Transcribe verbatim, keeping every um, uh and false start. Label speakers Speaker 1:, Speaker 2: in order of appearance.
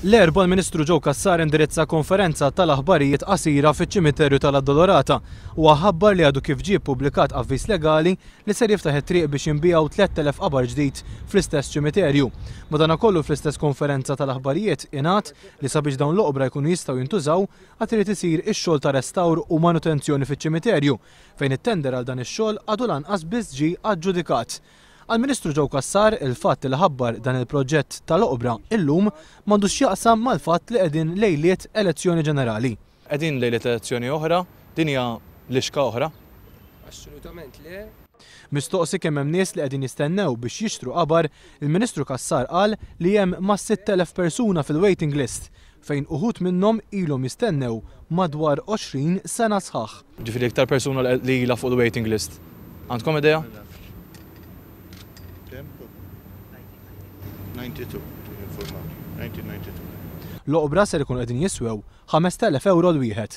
Speaker 1: L-Erbgħa l-Ministru Joe Cassar indirizza konferenza tal-aħbarijiet qasira fiċ-ċimiterju tal-Addolorata u ħabbar li għadu kif ġie ppubblikat avviż legali li ser jiftaħ it-triq biex jinbiegħu tlett elef qabar ġdid fl-istess ċimiterju. Madankollu fl-istess konferenza tal-aħbarijiet ingħad li sabiex dawn l-oqbra jkunu jistgħu jintużaw għad irid isir ix-xogħol ta' restawr u manutenzjoni fiċ-ċimiterju, fejn it-tender għal dan ix-xogħol għadu lanqas biss ġie aġġudikat. Għall-Ministru Joe Cassar, il-fatt li ħabbar dan il-proġett tal-oqbra illum m'għandux x'jaqsam mal-fatt li qegħdin lejliet elezzjoni ġenerali. Qegħdin lejliet elezzjoni oħra, din hija lixka oħra?
Speaker 2: Assolutament le.
Speaker 1: Mistoqsi kemm hemm nies li qegħdin jistennew biex jixtru qabar, il-Ministru Cassar qal li hemm ma' sitt elef persuna fil-waiting list, fejn uħud minnhom ilhom jistennew madwar għoxrin sena sħaħ. Ġifieri iktar persuna li ilha fuq il-waiting list. Għandkom idea? L-oqbra ser ikun qegħdin jiswew ħamest elef euro l-wieħed.